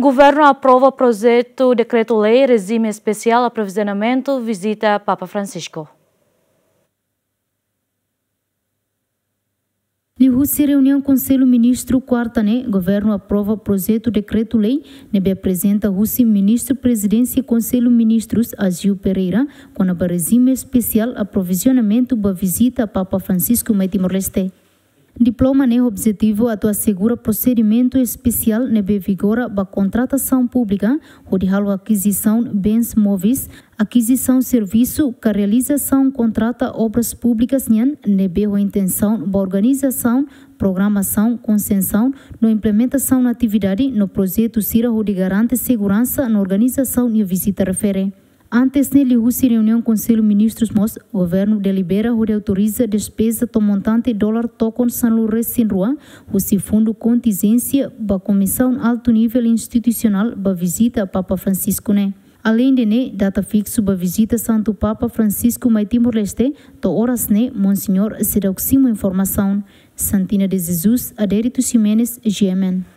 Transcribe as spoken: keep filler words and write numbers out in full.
Governu aprova projetu dekretu-lei rejime espesiál aprovizionamentu vizita Papa Francisco. Liuhusi reuniaun Konsellu Ministru kuarta ne'e, governu aprova projetu dekretu-lei ne'ebé aprezenta husi Ministru Prezidénsia Konsellu Ministrus, Agio Pereira, kona-ba rejime espesiál aprovizionamentu ba vizita Papa Francisco mai Timor-Leste. Diploma ne'e objetivu atu asegura prosedimentu espesiál ne'ebé vigora ba kontratasaun públika, hodi halo akizisaun bens móveis, akizisaun servisu, ka realizasaun kontrata obras públikas nian, ne'ebé ho intensaun ba organizasaun, programasaun, konsensaun no implementasaun atividade no projetu sira hodi garante seguransa no organizasaun nia vizita refere. Antes ne'e, liuhusi reuniaun Konsellu Ministrus mós, governu delibera hodi autoriza despeza to'o montante dolar tokon sanulu-resin-rua husi fundu kontinjénsia ba Komisaun Altu Nivel Institusionál ba vizita Papa Francisco ne'e. Aleinde ne'e, data fiksu ba vizita Santu Papa Francisco mai Timor-Leste to'o oras ne'e Monseñór seidauk simu informasaun. Santina de Jesus, Adérito Ximenes, G M N.